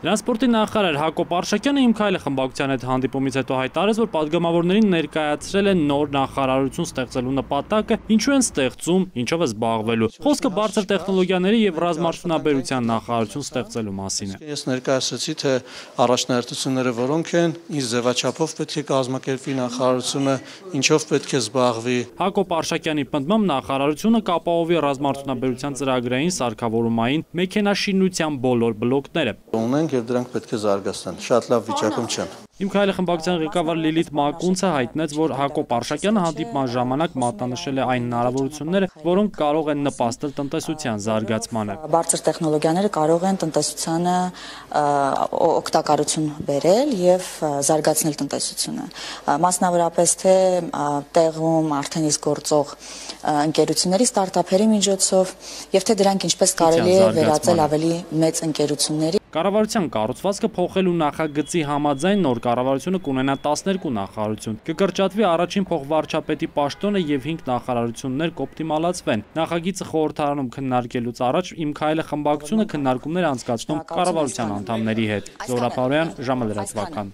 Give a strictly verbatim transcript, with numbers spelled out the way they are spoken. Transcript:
Տրանսպորտի նախարար Հակոբ Արշակյանը Իմ քայլը խմբակցության հետ հանդիպումից հետո հայտարարեց, որ պատգամավորներին ներկայացրել են նոր նախարարություն ստեղծելու նպատակը, ինչու են ստեղծում, ինչով է զբաղվելու։ Խոսքը բարձր տեխնոլոգիաների եւ ռազմարդյունաբերության նախարարություն ստեղծելու մասին է։ Ես ներկայացրեցի, թե առաջնահերթությունները որոնք են, ինչ ձևաչափով պետք է կազմակերպվի նախարարությունը, ինչով պետք է զբաղվի։ Հակոբ Արշակյանի պնդմամբ նախարարությունը կապահովի ռազմարդյունաբերության ծրագրային սարքավորումային մեքենաշինության բոլոր բլոկները։ Եւ դրանք պետք է զարգացնեն։ Շատ լավ վիճակում չեն։ Իմ քայլը խմբակցության ղեկավար Լիլիթ Մակունցը հայտնեց, որ Հակոբ Արշակյանը հանդիպման ժամանակ մատնանշել է այն հնարավորությունները, որոնք կարող են նպաստել տնտեսության զարգացմանը։ Բարձր տեխնոլոգիաները կարող են տնտեսությանը օգտակարություն բերել եւ զարգացնել տնտեսությունը։ Մասնավորապես թե տեղում արդեն իսկ գործող ընկերությունների, ստարտափերի միջոցով եւ թե դրանք ինչպես կարելի է վերածել ավելի մեծ ընկերությունների։ Կառավարության կառուցվածքը փոխելու նախագծի համաձայն նոր կառավարությունը կունենա տասներկու նախարարություն։ Կկրճատվի առաջին փոխվարչապետի պաշտոնը եւ հինգ նախարարություններ կօպտիմալացվեն։ Նախագիծը խորհրդարանում քննարկելուց առաջ Իմ քայլը խմբակցությունը քննարկումներ անցկացնում կառավարության անդամների հետ։ Զոհրաբ Արոյան, ժամը լրատվական։